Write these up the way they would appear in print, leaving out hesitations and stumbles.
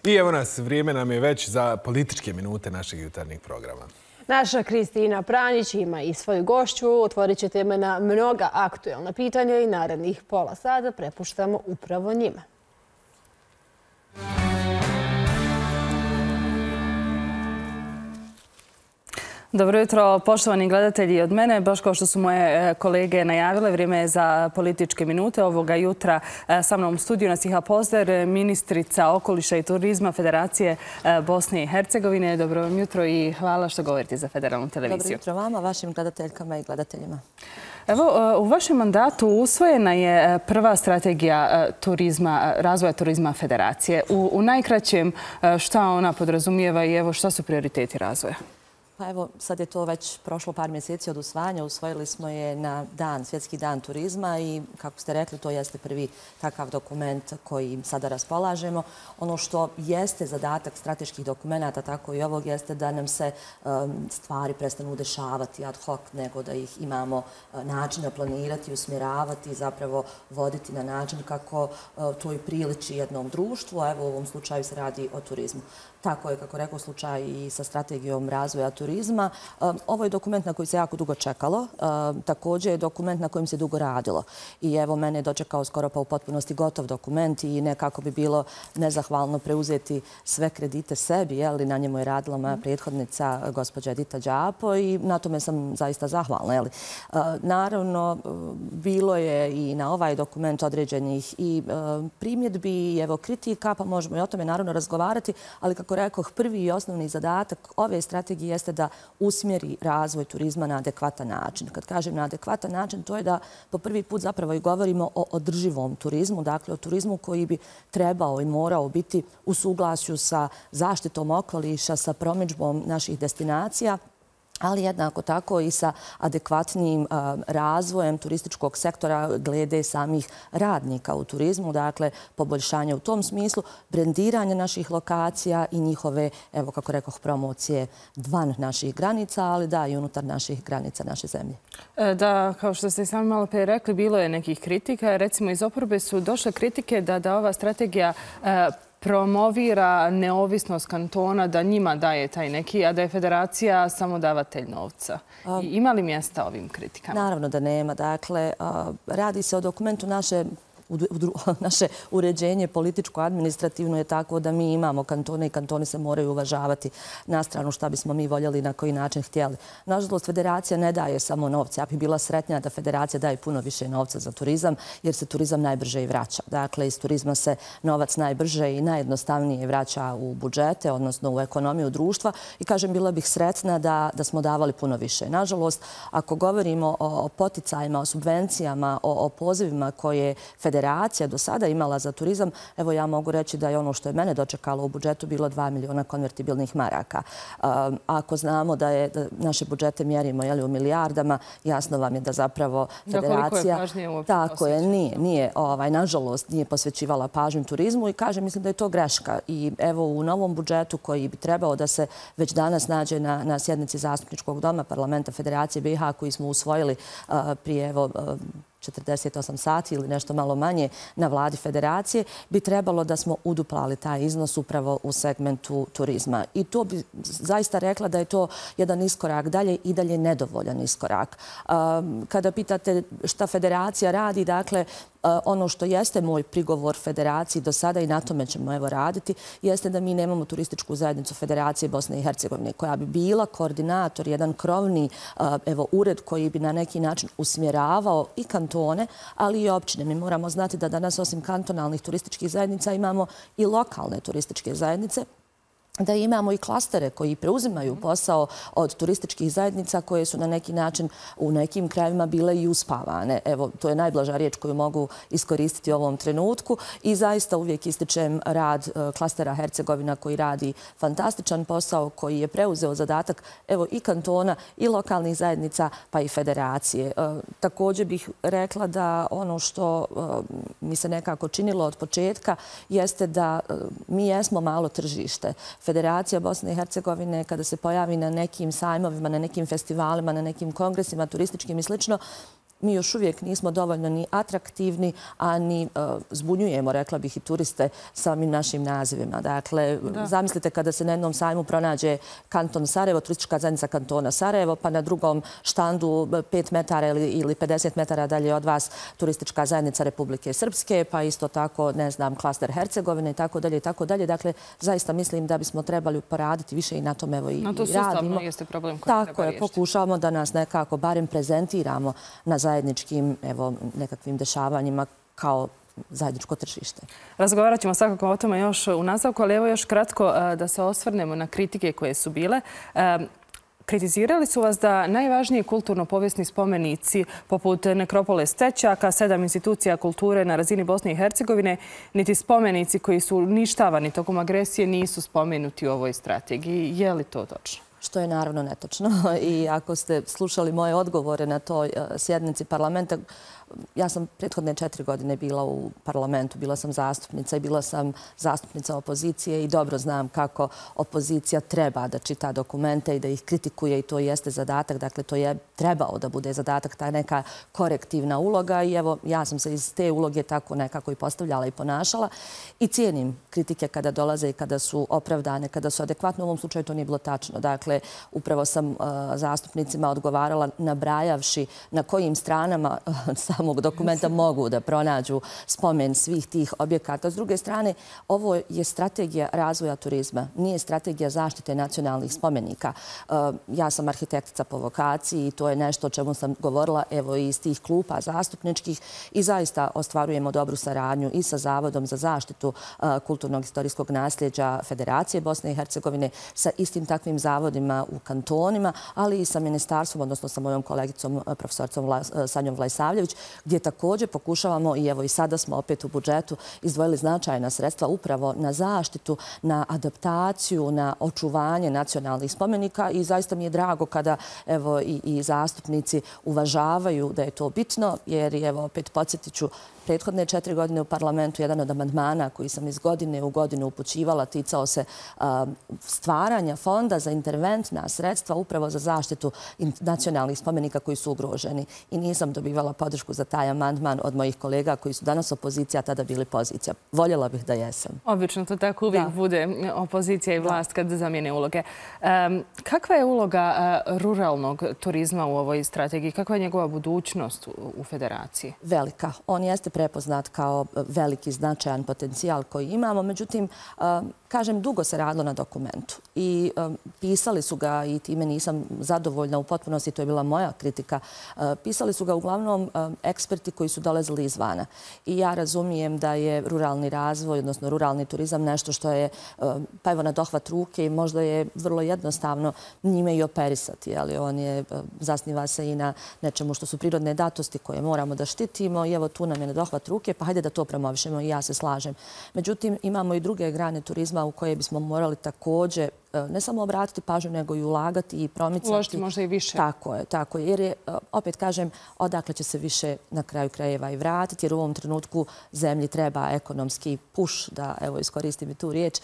I evo nas, vrijeme nam je već za političke minute našeg jutarnjeg programa. Naša Kristina Pranjić ima i svoju gošću. Otvorit će teme na mnoga aktuelna pitanja i narednih pola sata prepuštamo upravo njima. Dobro jutro, poštovani gledatelji. Od mene, baš kao što su moje kolege najavile, vrijeme je za političke minute. Ovoga jutra sa mnom u studiju Nasiha Pozder, ministrica okoliša i turizma Federacije Bosne i Hercegovine. Dobro vam jutro i hvala što govorite za federalnu televiziju. Dobro jutro vama, vašim gledateljkama i gledateljima. Evo, u vašem mandatu usvojena je prva strategija razvoja turizma Federacije. U najkraćem, šta ona podrazumijeva i evo šta su prioriteti razvoja? Pa evo, sad je to već prošlo par mjeseci od usvajanja. Usvojili smo je na Svjetski dan turizma i, kako ste rekli, to jeste prvi takav dokument koji sada raspolažemo. Ono što jeste zadatak strateških dokumenta, tako i ovog, jeste da nam se stvari prestanu dešavati ad hoc, nego da ih imamo načina planirati, usmjeravati i zapravo voditi na način kako to i priliči jednom društvu, a evo u ovom slučaju se radi o turizmu. Tako je, kako rekao, slučaj i sa strategijom razvoja turizma. Ovo je dokument na koji se jako dugo čekalo. Također je dokument na kojem se dugo radilo. I evo, mene je dočekao skoro pa u potpunosti gotov dokument i nekako bi bilo nezahvalno preuzeti sve kredite sebi, jer na njemu je radila moja prethodnica, gospođa Edita Đapo, i na tome sam zaista zahvalna. Naravno, bilo je i na ovaj dokument određenih i primjedbi i evo kritika, pa možemo i o tome naravno razgovarati, ali kako rekoh, prvi i osnovni zadatak ove strategije jeste da usmjeri razvoj turizma na adekvatan način. Kad kažem na adekvatan način, to je da po prvi put zapravo i govorimo o održivom turizmu, dakle o turizmu koji bi trebao i morao biti u suglasju sa zaštitom okoliša, sa promidžbom naših destinacija, ali jednako tako i sa adekvatnim razvojem turističkog sektora glede samih radnika u turizmu, dakle poboljšanje u tom smislu, brendiranje naših lokacija i njihove, evo kako rekoh, promocije van naših granica, ali da i unutar naših granica naše zemlje. Da, kao što ste i sami malo prije rekli, bilo je nekih kritika. Recimo iz oporbe su došle kritike da ova strategija promovira neovisnost kantona, da njima daje taj neki, a da je federacija samo davatelj novca. Ima li mjesta ovim kritikama? Naravno da nema. Dakle, radi se o dokumentu naše uređenje političko-administrativno je tako da mi imamo kantone i kantoni se moraju uvažavati na stranu šta bismo mi voljeli i na koji način htjeli. Nažalost, federacija ne daje samo novce. Ja bih bila sretnija da federacija daje puno više novca za turizam, jer se turizam najbrže i vraća. Dakle, iz turizma se novac najbrže i najjednostavnije vraća u budžete, odnosno u ekonomiju društva. I kažem, bila bih sretna da smo davali puno više. Nažalost, ako govorimo o poticajima, o subvencijama, o pozivima koje federacija do sada imala za turizam, evo ja mogu reći da je ono što je mene dočekalo u budžetu bilo 2 miliona konvertibilnih maraka. Ako znamo da naše budžete mjerimo u milijardama, jasno vam je da zapravo federacija... Koliko je pažnje uopće Tako je, nije, nažalost, nije posvećivala pažnju turizmu i kažem, mislim da je to greška. I evo u novom budžetu koji bi trebao da se već danas nađe na sjednici Zastupničkog doma Parlamenta Federacije BiH koji smo usvojili prije 48 sati ili nešto malo manje na vladi federacije, bi trebalo da smo uduplali taj iznos upravo u segmentu turizma. I to bi zaista rekla da je to jedan iskorak dalje i dalje nedovoljan iskorak. Kada pitate šta federacija radi, dakle, ono što jeste moj prigovor federaciji do sada i na tome ćemo raditi, jeste da mi nemamo turističku zajednicu Federacije Bosne i Hercegovine koja bi bila koordinator, jedan krovni ured koji bi na neki način usmjeravao i kantone, ali i općine. Mi moramo znati da danas osim kantonalnih turističkih zajednica imamo i lokalne turističke zajednice, da imamo i klastere koji preuzimaju posao od turističkih zajednica koje su na neki način u nekim krajevima bile i uspavane. Evo, to je najblaža riječ koju mogu iskoristiti u ovom trenutku i zaista uvijek ističem rad klastera Hercegovina koji radi fantastičan posao, koji je preuzeo zadatak evo i kantona i lokalnih zajednica pa i federacije. Također bih rekla da ono što mi se nekako činilo od početka jeste da mi jesmo malo tržište. Federacija Bosne i Hercegovine kada se pojavi na nekim sajmovima, na nekim festivalima, na nekim kongresima turističkim i slično, mi još uvijek nismo dovoljno ni atraktivni, a ni zbunjujemo, rekla bih, i turiste samim našim nazivima. Dakle, zamislite kada se na jednom sajmu pronađe kanton Sarajevo, turistička zajednica kantona Sarajevo, pa na drugom štandu 5 metara ili 50 metara dalje od vas turistička zajednica Republike Srpske, pa isto tako, ne znam, klaster Hercegovine i tako dalje i tako dalje. Dakle, zaista mislim da bismo trebali poraditi više i na tom, evo, i radimo. Na to sustavno jeste problem koji treba riješiti. Tako je, pokušavamo da nas nekako barem prezentiramo na zajedničkim nekakvim dešavanjima kao zajedničko tržište. Razgovarat ćemo svakako o tome još u nastavku, ali evo još kratko da se osvrnemo na kritike koje su bile. Kritizirali su vas da najvažniji kulturno-povijesni spomenici poput nekropole Stećaka, 7 institucija kulture na razini Bosne i Hercegovine, niti spomenici koji su uništavani tokom agresije nisu spomenuti u ovoj strategiji. Je li to točno? Što je naravno netočno. I ako ste slušali moje odgovore na toj sjednici parlamenta, ja sam prethodne 4 godine bila u parlamentu, bila sam zastupnica i bila sam zastupnica opozicije i dobro znam kako opozicija treba da čita dokumente i da ih kritikuje i to jeste zadatak. Dakle, to je trebao da bude zadatak, ta neka korektivna uloga i evo, ja sam se iz te uloge tako nekako i postavljala i ponašala i cijenim kritike kada dolaze i kada su opravdane, kada su adekvatne. U ovom slučaju to nije bilo tačno. Dakle, upravo sam zastupnicima odgovarala nabrajavši na kojim stranama samog dokumenta mogu da pronađu spomen svih tih objekata. S druge strane, ovo je strategija razvoja turizma, nije strategija zaštite nacionalnih spomenika. Ja sam arhitektica po vokaciji i to je nešto o čemu sam govorila evo iz tih klupa zastupničkih i zaista ostvarujemo dobru saradnju i sa Zavodom za zaštitu kulturnog historijskog nasljeđa Federacije Bosne i Hercegovine, sa istim takvim zavodima u kantonima, ali i sa ministarstvom, odnosno sa mojom kolegicom profesoricom Sanjom Vlajsavljević, gdje također pokušavamo i evo i sada smo opet u budžetu izdvojili značajna sredstva upravo na zaštitu, na adaptaciju, na očuvanje nacionalnih spomenika i zaista mi je drago kada evo i zastupnici uvažavaju da je to bitno, jer evo opet podsjetit ću, prethodne 4 godine u parlamentu jedan od amandmana koji sam iz godine u godinu upućivala ticao se stvaranja fonda za interventna sredstva upravo za zaštitu nacionalnih spomenika koji su ugroženi. I nisam dobivala podršku za taj amandman od mojih kolega koji su danas opozicija, a tada bili pozicija. Voljela bih da jesam. Obično to tako uvijek bude opozicija i vlast kad zamijene uloge. Kakva je uloga ruralnog turizma u ovoj strategiji? Kakva je njegova budućnost u Federaciji? Velika. On jeste prepoznat kao veliki značajan potencijal koji imamo. Međutim, kažem, dugo se radilo na dokumentu i pisali su ga i time nisam zadovoljna u potpunosti, to je bila moja kritika. Pisali su ga uglavnom eksperti koji su dolazili izvana. I ja razumijem da je ruralni razvoj, odnosno ruralni turizam nešto što je pa evo na dohvat ruke i možda je vrlo jednostavno njime i operisati. Ali on je, zasniva se i na nečemu što su prirodne datosti koje moramo da štitimo i evo tu nam je na dohvat ruke, pa hajde da to promovišemo i ja se slažem. Međutim, imamo i druge grane turizma u koje bismo morali također ne samo obratiti pažnju, nego i ulagati i promicati. Uložiti možda i više. Tako je. Jer je, opet kažem, odakle će se više na kraju krajeva i vratiti, jer u ovom trenutku zemlji treba ekonomski push, da evo iskoristim i tu riječ.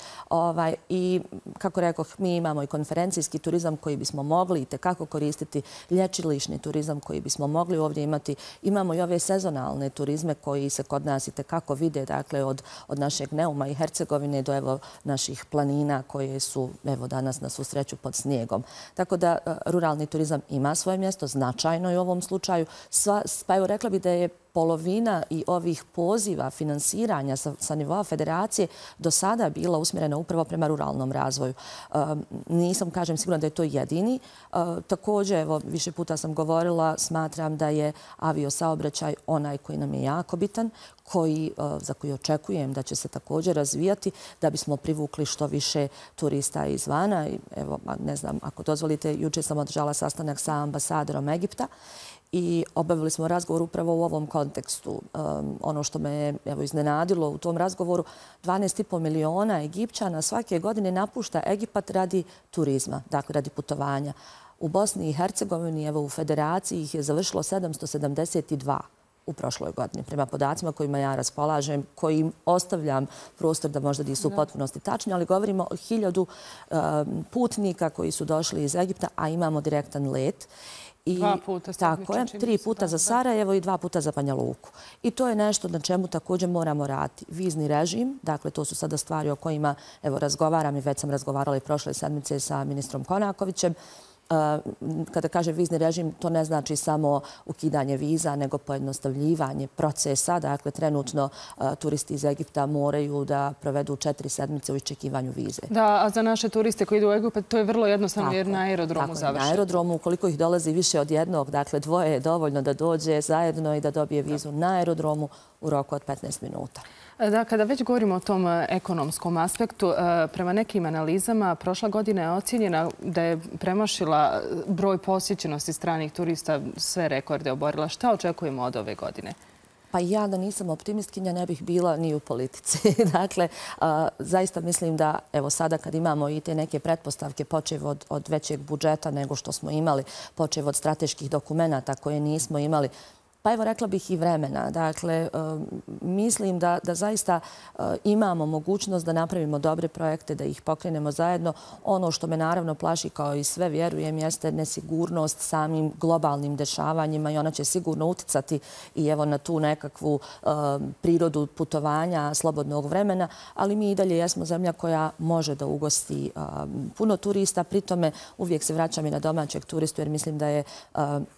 I kako rekoh, mi imamo i konferencijski turizam koji bismo mogli i tekako koristiti, lječilišni turizam koji bismo mogli ovdje imati. Imamo i ove sezonalne turizme koji se kod nas i tekako vide, dakle od našeg Neuma i Hercegovine do evo naših planina koje su danas na svu sreću pod snijegom. Tako da ruralni turizam ima svoje mjesto, značajno je u ovom slučaju. Pa evo rekla bih da je polovina i ovih poziva finansiranja sa nivoa federacije do sada bila usmjerena upravo prema ruralnom razvoju. Nisam, kažem, sigurna da je to jedini. Također, evo, više puta sam govorila, smatram da je aviosaobraćaj onaj koji nam je jako bitan, za koji očekujem da će se također razvijati da bismo privukli što više turista izvana. Evo, ne znam, ako dozvolite, jučer sam održala sastanak sa ambasadorom Egipta i obavili smo razgovor upravo u ovom kontekstu. Ono što me je iznenadilo u tom razgovoru, 12,5 miliona Egipćana svake godine napušta Egipat radi turizma, dakle radi putovanja. U Bosni i Hercegovini, evo u Federaciji ih je završilo 772. u prošloj godini. Prema podacima kojima ja raspolažem, kojim ostavljam prostor da možda nisu u potpunosti tačni, ali govorimo o 1000 putnika koji su došli iz Egipta, a imamo direktan let. 2 puta. Tako je, 3 puta za Sarajevo i 2 puta za Banja Luku. I to je nešto na čemu također moramo raditi. Vizni režim, dakle to su sada stvari o kojima razgovaram i već sam razgovarala i prošle sedmice sa ministrom Konakovićem. Kada kaže vizni režim, to ne znači samo ukidanje viza, nego pojednostavljivanje procesa. Dakle, trenutno turisti iz Egipta moraju da provedu 4 sedmice u iščekivanju vize. Da, a za naše turiste koji idu u Egipat, to je vrlo jednostavno jer na aerodromu završi. Na aerodromu, ukoliko ih dolazi više od jednog, dakle 2 je dovoljno da dođe zajedno i da dobije vizu na aerodromu u roku od 15 minuta. Da, kada već govorimo o tom ekonomskom aspektu, prema nekim analizama prošla godina je ocjenjena da je premašila broj posjećenosti stranih turista, sve rekorde oborila. Šta očekujemo od ove godine? Pa ja da nisam optimistkinja ne bih bila ni u politici. Dakle, zaista mislim da evo sada kad imamo i te neke pretpostavke počev od većeg budžeta nego što smo imali, počev od strateških dokumenata koje nismo imali, pa evo rekla bih i vremena. Dakle, mislim da zaista imamo mogućnost da napravimo dobre projekte, da ih pokrenemo zajedno. Ono što me naravno plaši, kao i sve vjerujem, jeste nesigurnost samim globalnim dešavanjima i ona će sigurno uticati i evo na tu nekakvu prirodu putovanja, slobodnog vremena, ali mi i dalje jesmo zemlja koja može da ugosti puno turista. Pri tome uvijek se vraćam i na domaćeg turistu jer mislim da je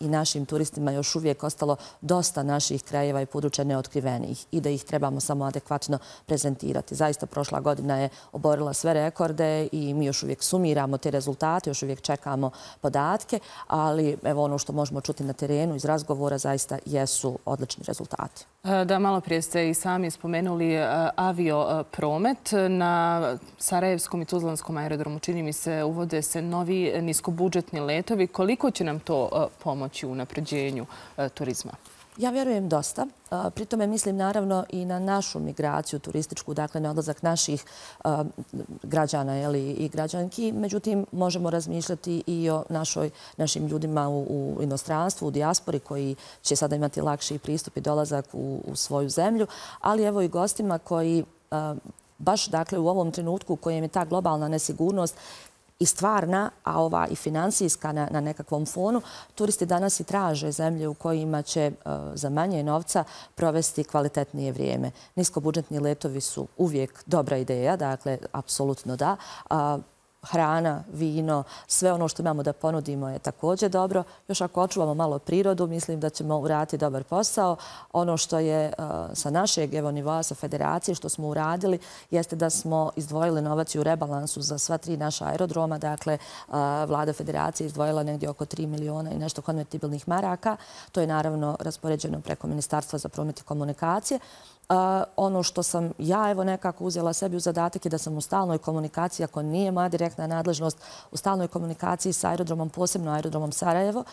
i našim turistima još uvijek ostalo dosta naših krajeva i područja neotkrivenih i da ih trebamo samo adekvatno prezentirati. Zaista prošla godina je oborila sve rekorde i mi još uvijek sumiramo te rezultate, još uvijek čekamo podatke, ali evo ono što možemo čuti na terenu iz razgovora zaista jesu odlični rezultati. Da, malo prije ste i sami spomenuli aviopromet. Na Sarajevskom i Tuzlanskom aerodromu, čini mi se, uvode se novi niskobudžetni letovi. Koliko će nam to pomoći u unapređenju turizma? Ja vjerujem dosta. Pri tome mislim naravno i na našu migraciju turističku, dakle na odlazak naših građana i građanki. Međutim, možemo razmišljati i o našim ljudima u inostranstvu, u dijaspori koji će sada imati lakši pristup i dolazak u svoju zemlju, ali evo i gostima koji baš dakle u ovom trenutku u kojem je ta globalna nesigurnost i stvarna, a ova i finansijska na nekakvom fonu, turisti danas i traže zemlje u kojima će za manje novca provesti kvalitetnije vrijeme. Niskobudžetni letovi su uvijek dobra ideja, dakle, apsolutno da. Hrana, vino, sve ono što imamo da ponudimo je također dobro. Još ako očuvamo malo prirodu, mislim da ćemo uraditi dobar posao. Ono što je sa našeg nivoa, sa federacije, što smo uradili, jeste da smo izdvojili novac u rebalansu za sva 3 naša aerodroma. Dakle, vlada federacije izdvojila negdje oko 3 miliona i nešto konvertibilnih maraka. To je naravno raspoređeno preko Ministarstva za promet i komunikacije. Ono što sam ja evo nekako uzela sebi u zadatak je da sam u stalnoj komunikaciji, ako nije moja direktna nadležnost, u stalnoj komunikaciji sa aerodromom, posebno aerodromom Sarajevo,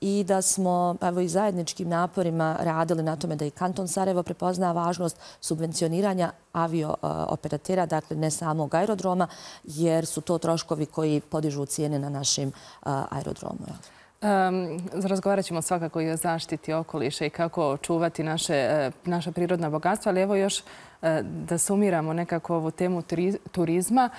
i da smo evo i zajedničkim naporima radili na tome da i kanton Sarajevo prepozna važnost subvencioniranja avio-operatera, dakle ne samog aerodroma, jer su to troškovi koji podižu cijene na našim aerodromu. Razgovarat ćemo svakako i o zaštiti okoliša i kako čuvati naša prirodna bogatstva, ali evo još da sumiramo nekako ovu temu turizma.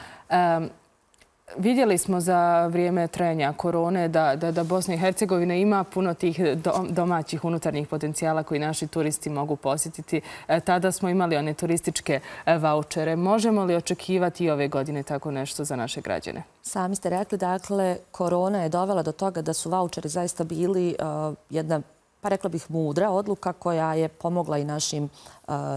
Vidjeli smo za vrijeme trajanja korone da Bosna i Hercegovina ima puno tih domaćih unutarnjih potencijala koji naši turisti mogu posjetiti. Tada smo imali one turističke vaučere. Možemo li očekivati i ove godine tako nešto za naše građane? Sami ste rekli, dakle, korona je dovela do toga da su vaučeri zaista bili jedna, pa rekla bih, mudra odluka koja je pomogla i našim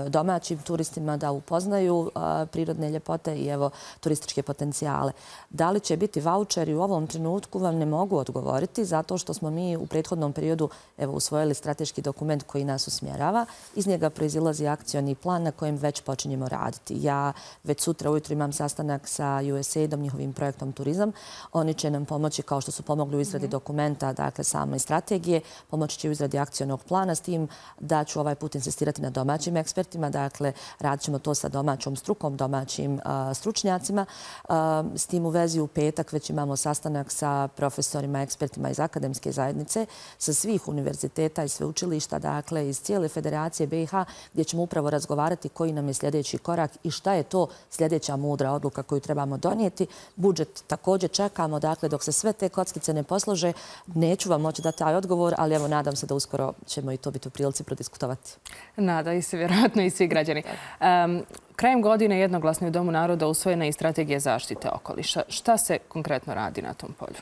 domaćim turistima da upoznaju prirodne ljepote i evo turističke potencijale. Da li će biti vaučeri u ovom trenutku vam ne mogu odgovoriti zato što smo mi u prethodnom periodu evo usvojili strateški dokument koji nas usmjerava. Iz njega proizilazi akcioni plan na kojem već počinjemo raditi. Ja već sutra ujutro imam sastanak sa USAID-om, njihovim projektom Turizam. Oni će nam pomoći kao što su pomogli u izradi dokumenta, dakle same strategije, pomoći će u izradi akcionog plana s tim da ću ovaj put insistirati na domaćim ekspertima, dakle radit ćemo to sa domaćom strukom, domaćim stručnjacima. S tim u vezi u petak već imamo sastanak sa profesorima, ekspertima iz akademske zajednice, sa svih univerziteta i sveučilišta, dakle iz cijele Federacije BiH, gdje ćemo upravo razgovarati koji nam je sljedeći korak i šta je to sljedeća mudra odluka koju trebamo donijeti. Budžet također čekamo, dakle dok se sve te kockice ne poslože, neću vam moći dati taj odgovor, ali evo nadam se da uskoro ćemo i to biti u prilici prodiskutovati. Nadaju se vjerojatno i svi građani. Krajem godine jednoglasno je u Domu naroda usvojena i strategija zaštite okoliša. Šta se konkretno radi na tom polju?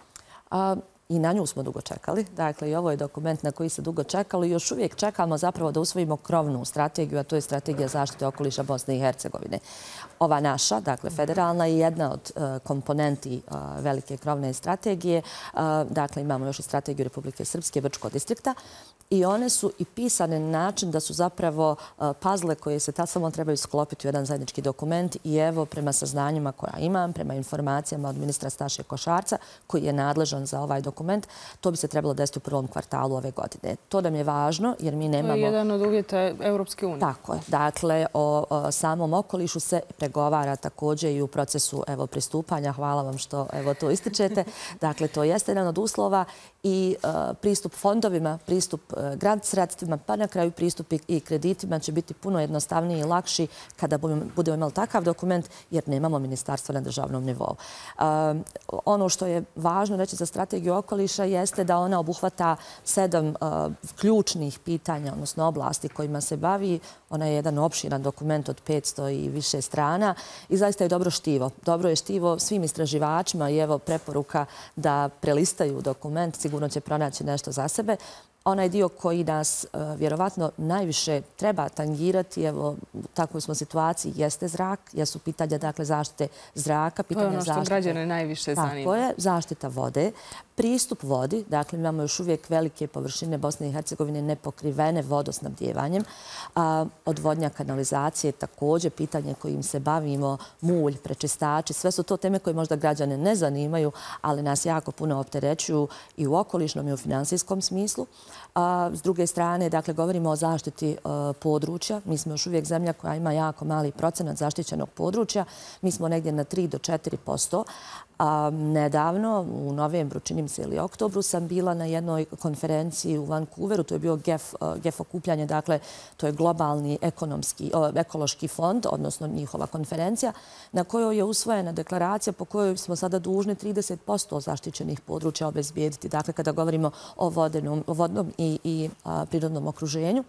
I na nju smo dugo čekali. Dakle, i ovo je dokument na koji se dugo čekalo i još uvijek čekamo zapravo da usvojimo krovnu strategiju, a to je strategija zaštite okoliša Bosne i Hercegovine. Ova naša, dakle federalna, je jedna od komponenti velike krovne strategije. Dakle, imamo još i strategiju Republike Srpske, Brčko distrikta. I one su i pisane na način da su zapravo puzzle koje se samo trebaju sklopiti u jedan zajednički dokument. I evo, prema saznanjima koja imam, prema informacijama od ministra Staše Košarca, koji je nadležan za ovaj dokument, to bi se trebalo desiti u prvom kvartalu ove godine. To nam je važno jer mi nemamo... To je jedan od uvjeta Europske unije. Tako je. Dakle, o samom okolišu se pregovara također i u procesu pristupanja. Hvala vam što to ističete. Dakle, to jeste jedan od uslova i pristup fondovima, pristup grant sredstvima, pa na kraju pristup i kreditima će biti puno jednostavniji i lakši kada budemo imali takav dokument jer nemamo ministarstva na državnom nivou. Ono što je važno reći za strategiju okoliša jeste da ona obuhvata 7 ključnih pitanja, odnosno oblasti kojima se bavi. Ona je jedan opširan dokument od 500 i više strana i zaista je dobro štivo. Dobro je štivo svim istraživačima i evo preporuka da prelistaju dokument, sigurno će pronaći nešto za sebe. Onaj dio koji nas vjerovatno najviše treba tangirati, evo u takvoj smo situaciji, jeste zrak, jesu pitanja dakle zaštite zraka, pitanja zaštite... To je ono što građane najviše zanima. Tako je, zaštita vode, pristup vodi, dakle imamo još uvijek velike površine Bosne i Hercegovine nepokrivene vodosnabdjevanjem, odvodnja kanalizacije, također pitanje kojim se bavimo, mulj, prečistači, sve su to teme koje možda građane ne zanimaju, ali nas jako puno opterećuju i u okolišnom i u finansijskom smislu. S druge strane, dakle, govorimo o zaštiti područja. Mi smo još uvijek zemlja koja ima jako mali procenat zaštićenog područja. Mi smo negdje na 3 do 4%. Nedavno, u novembru, činim se ili oktobru, sam bila na jednoj konferenciji u Vancouveru. To je bio GEF okupljanje, dakle, to je globalni ekološki fond, odnosno njihova konferencija, na kojoj je usvojena deklaracija po kojoj smo sada dužni 30% zaštićenih područja obezbijediti. Dakle, kada govorimo o vodnom i prirodnom okruženju,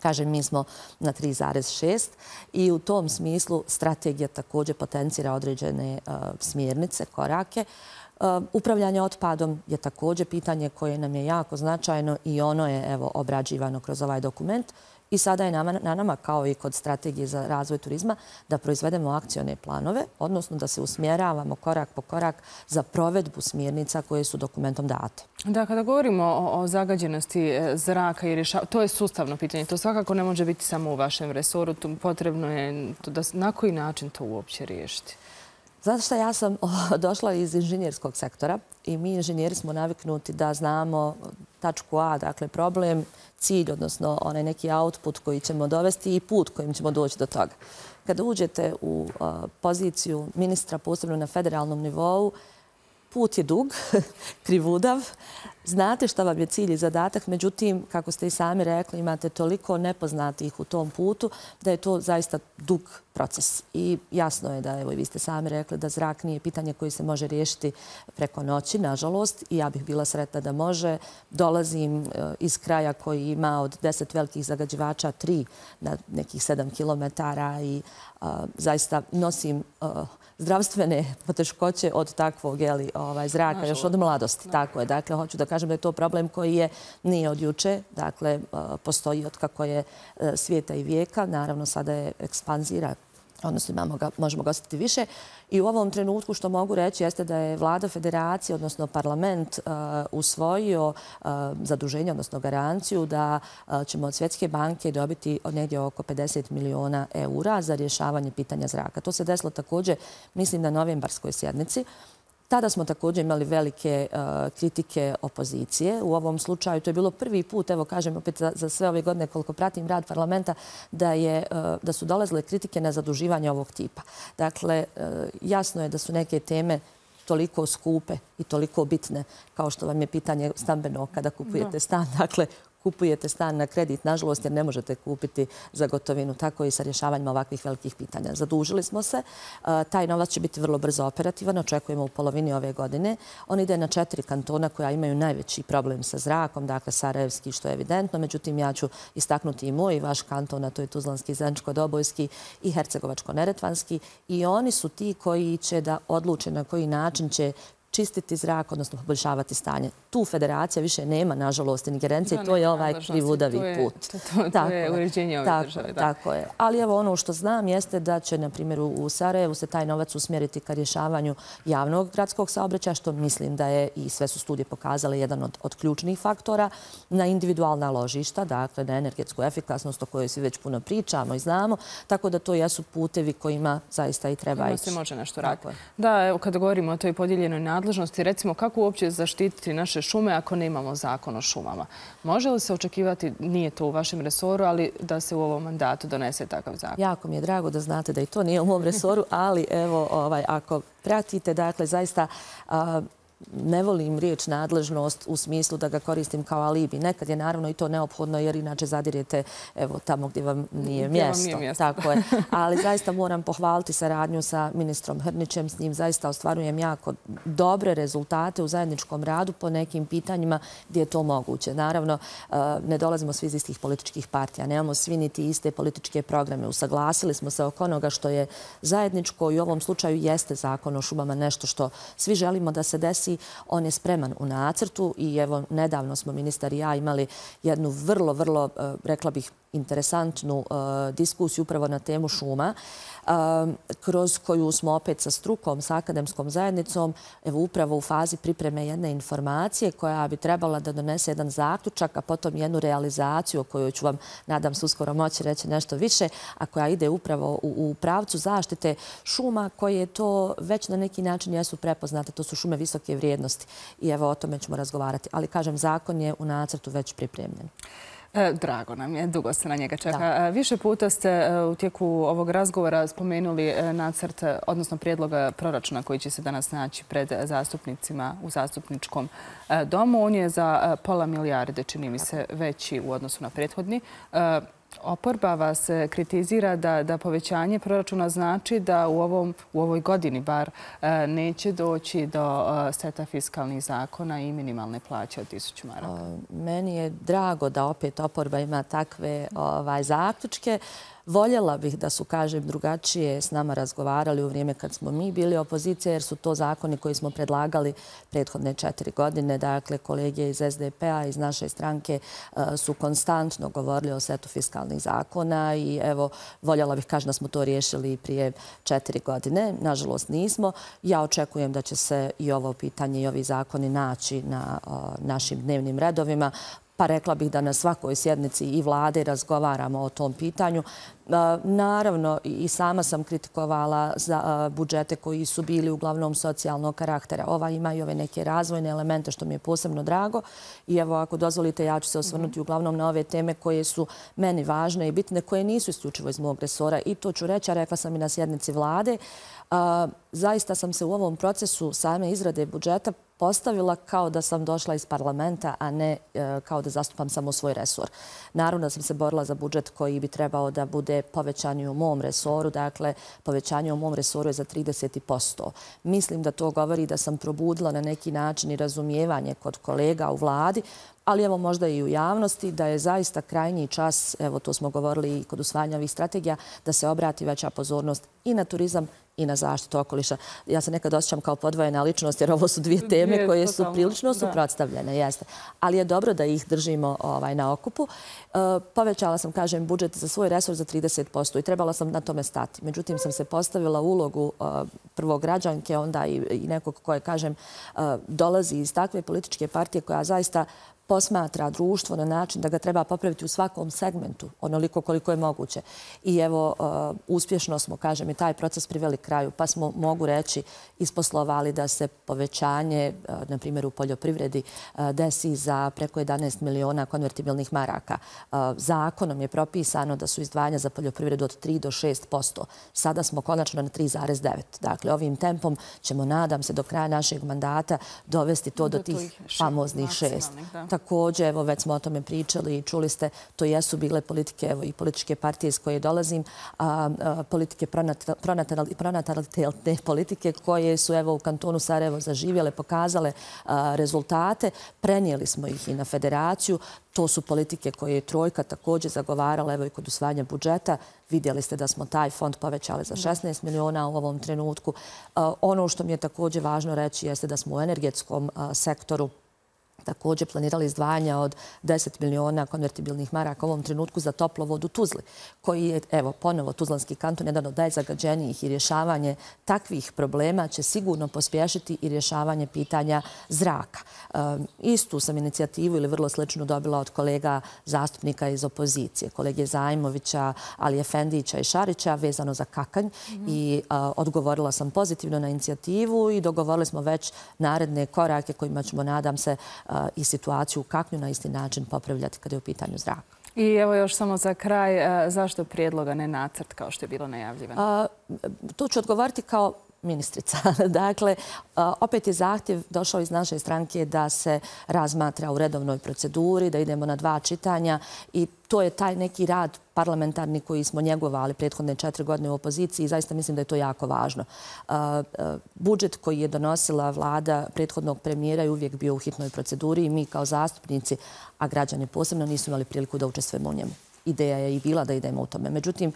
kažem, mi smo na 3,6 i u tom smislu strategija također potencira određene smjernice, korake. Upravljanje otpadom je također pitanje koje nam je jako značajno i ono je obrađivano kroz ovaj dokument. I sada je na nama, kao i kod strategije za razvoj turizma, da proizvedemo akcione planove, odnosno da se usmjeravamo korak po korak za provedbu smjernica koje su dokumentom date. Da, kada govorimo o zagađenosti zraka i rješavanju, to je sustavno pitanje. To svakako ne može biti samo u vašem resoru. Potrebno je na koji način to uopće riješiti? Znate šta, ja sam došla iz inženjerskog sektora i mi inženjeri smo naviknuti da znamo tačku A, dakle problem, cilj, odnosno onaj neki output koji ćemo dovesti i put kojim ćemo doći do toga. Kada uđete u poziciju ministra, posebno na federalnom nivou, put je dug, krivudav, znate šta vam je cilj i zadatak, međutim, kako ste i sami rekli, imate toliko nepoznatih u tom putu da je to zaista dug proces. I jasno je da, evo i vi ste sami rekli, da zrak nije pitanje koje se može riješiti preko noći, nažalost, i ja bih bila sretna da može. Dolazim iz kraja koji ima od 10 velikih zagađivača 3 na nekih 7 kilometara i zaista nosim zdravstvene poteškoće od takvog zraka, još od mladosti. Tako je. Dakle, hoću da kažem da je to problem koji nije od juče. Dakle, postoji od kako je svijeta i vijeka. Naravno, sada je ekspanzira, odnosno možemo ga osjetiti više. I u ovom trenutku što mogu reći jeste da je vlada federacije, odnosno parlament, usvojio zaduženje, odnosno garanciju da ćemo od Svjetske banke dobiti negdje oko 50 miliona eura za rješavanje pitanja zraka. To se desilo također, mislim, na novembarskoj sjednici. Tada smo također imali velike kritike opozicije. U ovom slučaju to je bilo prvi put, evo kažem opet za sve ove godine koliko pratim rad parlamenta, da su dolazile kritike na zaduživanje ovog tipa. Dakle, jasno je da su neke teme toliko skupe i toliko bitne, kao što vam je pitanje stambeno kada kupujete stan. Dakle, kupujete stan na kredit, nažalost, jer ne možete kupiti za gotovinu. Tako i sa rješavanjem ovakvih velikih pitanja. Zadužili smo se. Taj novac će biti vrlo brzo operativan. Očekujemo u polovini ove godine. On ide na 4 kantona koja imaju najveći problem sa zrakom, dakle Sarajevski, što je evidentno. Međutim, ja ću istaknuti i moj i vaš kanton, a to je Tuzlanski, Zeničko-Dobojski i Hercegovačko-Neretvanski. I oni su ti koji će da odluče na koji način će čistiti zrak, odnosno poboljšavati stanje. Tu federacija više nema, nažalost, ingerencije. To je ovaj krivudavi put. To je uređenje ove države. Tako je. Ali evo ono što znam jeste da će, na primjer, u Sarajevu se taj novac usmjeriti ka rješavanju javnog gradskog saobraćaja, što mislim da je, i sve su studije pokazale, jedan od ključnih faktora, na individualna ložišta, dakle na energetsku efikasnost o kojoj svi već puno pričamo i znamo, tako da to jesu putevi kojima zaista i treba ići. Se može nešto raditi. Da, evo kada govorimo o toj podijeljenoj nadležnosti, recimo kako uopće zaštititi naše šume ako nemamo zakon o šumama? Može li se očekivati, nije to u vašem resoru, ali da se u ovom mandatu donese takav zakon? Jako mi je drago da znate da i to nije u mom resoru, ali evo, ako pratite, dakle, zaista ne volim riječ nadležnost u smislu da ga koristim kao alibi. Nekad je naravno i to neophodno jer inače zadirete tamo gdje vam nije mjesto. Tako je. Ali zaista moram pohvaliti saradnju sa ministrom Hrnićem. S njim zaista ostvarujem jako dobre rezultate u zajedničkom radu po nekim pitanjima gdje je to moguće. Naravno, ne dolazimo svi iz istih političkih partija. Nemamo svi niti iste političke programe. Usaglasili smo se oko onoga što je zajedničko i u ovom slučaju jeste zakon o šumama nešto što svi želimo da se desi. On je spreman u nacrtu i evo nedavno smo ministar i ja imali jednu vrlo, rekla bih, interesantnu diskusiju upravo na temu šuma, kroz koju smo opet sa strukom, sa akademskom zajednicom, evo upravo u fazi pripreme jedne informacije koja bi trebala da donese jedan zaključak, a potom jednu realizaciju o kojoj ću vam, nadam se, uskoro moći reći nešto više, a koja ide upravo u pravcu zaštite šuma koje to već na neki način jesu prepoznate. To su šume visoke vrijednosti i evo o tome ćemo razgovarati. Ali kažem, zakon je u nacrtu već pripremljen. Drago nam je, dugo se na njega čeka. Više puta ste u tijeku ovog razgovora spomenuli nacrt, odnosno prijedlog proračuna koji će se danas naći pred zastupnicima u zastupničkom domu. On je za pola milijarde, čini mi se, veći u odnosu na prethodni. Oporba vas kritizira da povećanje proračuna znači da u ovoj godini bar neće doći do seta fiskalnih zakona i minimalne plaće od 1000 maraka. Meni je drago da opet oporba ima takve zaključke. Voljela bih da su, kažem, drugačije s nama razgovarali u vrijeme kad smo mi bili opozicija, jer su to zakoni koji smo predlagali prethodne 4 godine. Dakle, kolege iz SDP-a, iz naše stranke su konstantno govorili o setu fiskalnih zakona i evo, voljela bih, kažem, da smo to riješili prije 4 godine. Nažalost, nismo. Ja očekujem da će se i ovo pitanje i ovi zakoni naći na našim dnevnim redovima. Pa rekla bih da na svakoj sjednici i vlade razgovaramo o tom pitanju. Naravno, i sama sam kritikovala za budžete koji su bili uglavnom socijalnog karaktera. Ova ima i ove neke razvojne elemente, što mi je posebno drago. I evo, ako dozvolite, ja ću se osvrnuti uglavnom na ove teme koje su meni važne i bitne, koje nisu isključivo iz mog resora. I to ću reći, a rekla sam i na sjednici vlade. Zaista sam se u ovom procesu same izrade budžeta postavila kao da sam došla iz parlamenta, a ne kao da zastupam samo svoj resor. Naravno da sam se borila za budžet koji bi trebao da bude povećan i u mom resoru. Dakle, povećanje u mom resoru je za 30%. Mislim da to govori da sam probudila na neki način i razumijevanje kod kolega u vladi, ali evo možda i u javnosti, da je zaista krajnji čas, evo to smo govorili i kod usvajanja ovih strategija, da se obrati veća pozornost i na turizam i na zaštitu okoliša. Ja se nekad osjećam kao podvojena ličnost, jer ovo su dvije teme koje su prilično suprotstavljene, jeste. Ali je dobro da ih držimo na okupu. Povećala sam, kažem, budžet za svoj resor za 30% i trebala sam na tome stati. Međutim, sam se postavila ulogu prvo građanke, onda i nekog koje, kažem, dolazi iz takve političke partije koja zaista posmatra društvo na način da ga treba popraviti u svakom segmentu, onoliko koliko je moguće. I evo, uspješno smo, kažem, i taj proces priveli kraju, pa smo, mogu reći, isposlovali da se povećanje, na primjer u poljoprivredi, desi za preko 11 miliona konvertibilnih maraka. Zakonom je propisano da su izdvajanja za poljoprivredu od 3 do 6%. Sada smo konačno na 3,9%. Dakle, ovim tempom ćemo, nadam se, do kraja našeg mandata dovesti to do tih famoznih 6%. Također, evo, već smo o tome pričali i čuli ste, to jesu bile politike, evo, i političke partije iz koje dolazim, politike pronatalitetne politike koje su, evo, u kantonu Sarajevo zaživjele, pokazale rezultate. Prenijeli smo ih i na federaciju. To su politike koje je Trojka također zagovarala, evo, i kod usvajanja budžeta. Vidjeli ste da smo taj fond povećali za 16 miliona u ovom trenutku. Ono što mi je također važno reći jeste da smo u energetskom sektoru također planirali izdvajanja od 10 miliona konvertibilnih maraka u ovom trenutku za toplovod u Tuzli, koji je, evo, ponovo Tuzlanski kanton, jedan od najzagađenijih, i rješavanje takvih problema će sigurno pospješiti i rješavanje pitanja zraka. Istu sam inicijativu ili vrlo sličnu dobila od kolega zastupnika iz opozicije, kolege Zajmovića, Ali Efendića i Šarića, vezano za Kakanj, i odgovorila sam pozitivno na inicijativu i dogovorili smo već naredne korake kojima ćemo, nadam se, i situaciju u Kaknju na isti način popravljati kada je u pitanju zraka. I evo još samo za kraj, zašto prijedloga ne nacrt kao što je bilo najavljivano? Tu ću odgovoriti kao ministrica. Dakle, opet je zahtjev došao iz naše stranke da se razmatra u redovnoj proceduri, da idemo na 2 čitanja i to je taj neki rad parlamentarni koji smo njegovali prethodne 4 godine u opoziciji i zaista mislim da je to jako važno. Budžet koji je donosila vlada prethodnog premijera je uvijek bio u hitnoj proceduri i mi kao zastupnici, a građani posebno, nisu imali priliku da učestvujemo u njemu. Ideja je i bila da idemo u tome. Međutim,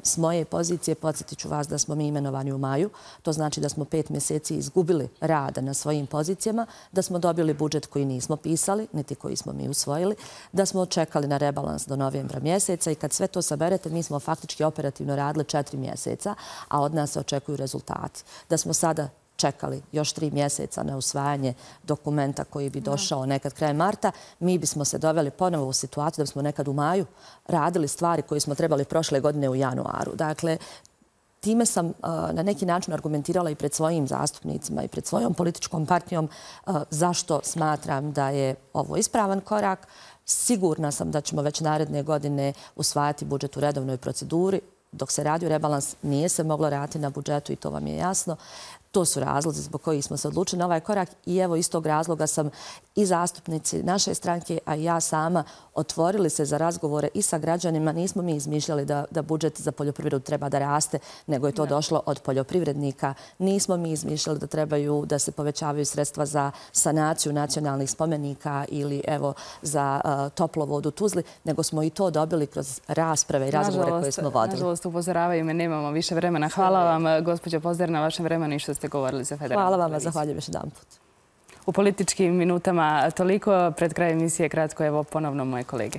s moje pozicije, podsjetit ću vas da smo mi imenovani u maju. To znači da smo 5 mjeseci izgubili rada na svojim pozicijama, da smo dobili budžet koji nismo pisali, niti koji smo mi usvojili, da smo čekali na rebalans do novembra mjeseca i kad sve to saberete, mi smo faktički operativno radili 4 mjeseca, a od nas se očekuju rezultati. Da smo sada čekali još 3 mjeseca na usvajanje dokumenta koji bi došao nekad krajem marta, mi bismo se doveli ponovo u situaciju da bismo nekad u maju radili stvari koje smo trebali prošle godine u januaru. Dakle, time sam na neki način argumentirala i pred svojim zastupnicima i pred svojom političkom partijom zašto smatram da je ovo ispravan korak. Sigurna sam da ćemo već naredne godine usvajati budžet u redovnoj proceduri. Dok se radio rebalans, nije se moglo raditi na budžetu i to vam je jasno. To su razlozi zbog kojih smo se odlučili na ovaj korak i evo iz tog razloga sam i zastupnici naše stranke, a i ja sama otvorili se za razgovore i sa građanima. Nismo mi izmišljali da budžet za poljoprivredu treba da raste, nego je to došlo od poljoprivrednika. Nismo mi izmišljali da trebaju da se povećavaju sredstva za sanaciju nacionalnih spomenika ili evo za toplovod u Tuzli, nego smo i to dobili kroz rasprave i razgovore koje smo vodili. Nažalost, upozoravaju me, nemamo više vremena. Hvala vam, gospođo Pozder, na vašem vremenu i što ste govorili za Federalnu televiziju. Hvala vam, zahvaljujem još jedan put. U političkim minutama toliko. Pred kraj emisije kratko, evo ponovno moje kolege.